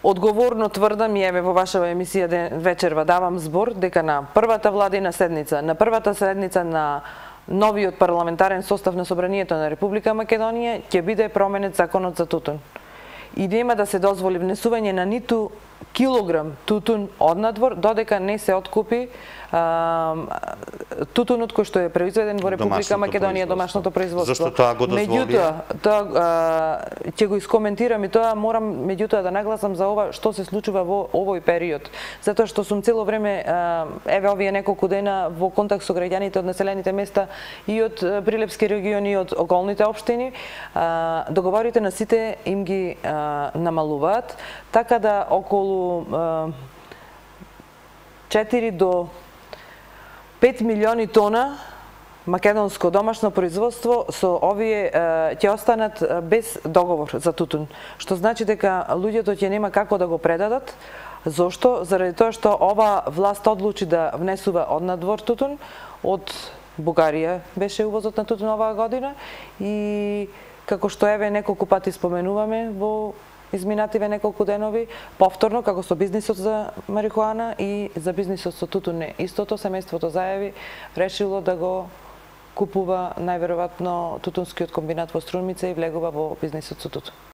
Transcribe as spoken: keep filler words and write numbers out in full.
одговорно тврдам и еве во вашава емисија вечерва давам збор дека на првата владина седница, на првата седница на новиот парламентарен состав на Собранието на Република Македонија ќе биде променет законот за тутун. И нема да се дозволи внесување на ниту килограм тутун однадвор додека не се откупи а, тутунот кој што е произведен во Република Македонија, домашното производство. Зашто тоа го дозволи? Меѓутоа, тоа а, ќе го искоментирам и тоа морам меѓутоа да нагласам за ова што се случува во овој период. Затоа што сум цело време а, еве овие неколку дена во контакт со граѓаните од населените места и од Прилепски регион и од околните општини, а, договорите на сите им ги а, намалуваат, така да околу а, четири до пет милиони тона македонско домашно производство со овие ќе останат без договор за тутун, што значи дека луѓето ќе нема како да го предадат. Зошто? Заради тоа што ова власт одлучи да внесува однадвор тутун од Бугарија беше увозот на тутун оваа година и како што еве неколку пати споменуваме во изминативе неколку денови, повторно како со бизнисот за марихуана и за бизнисот со тутун не. Истото семејството зајави решило да го купува најверојатно тутунскиот комбинат во Струмица и влегува во бизнисот со тутун.